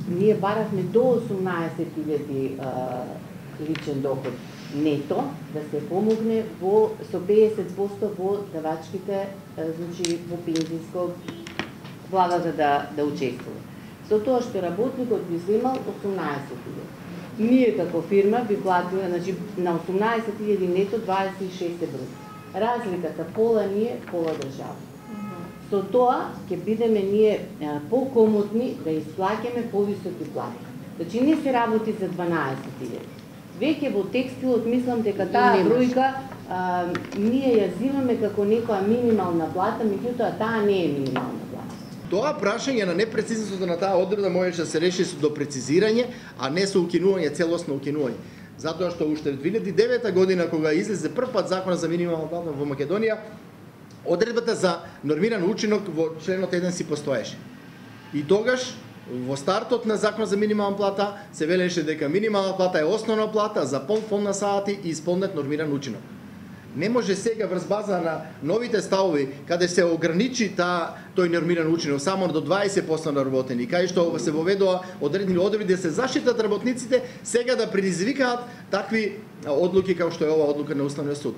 ние баравме до 18.000 личен доход нето, да се помогне со 50% во давачките, значи во пензиско владата да учествува. Со тоа што работникот би земал 18.000. Ние како фирма би платиле, значи на 18.000 нето 26 евро. Разликата пола ние, пола држава. Со тоа ќе бидеме ние покомотни да исплаќаме повисоки плати. Значи не се работи за 12.000. Веќе во текстилот мислам дека таа бројка ние ја зимаме како некоја минимална плата, меѓутоа таа не е минимална плата. Тоа прашање на непрецизноста на таа одредба можеше да се реши до прецизирање, а не со укинување, целосно укинување. Затоа што уште во 2009 година кога излезе прв пат законот за минимална плата во Македонија, одредбата за нормиран учинок во членот 1 си постоеше. И тогаш во стартот на закон за минимална плата се велеше дека минимална плата е основна плата за полн фонд на сати и исполнет нормиран учинок. Не може сега врз база на новите ставови каде се ограничи тој нормиран учинок само до 20% на работени, кај што се воведува одредени одредби да се заштитат работниците, сега да предизвикаат такви одлуки како што е ова одлука на Уставниот суд.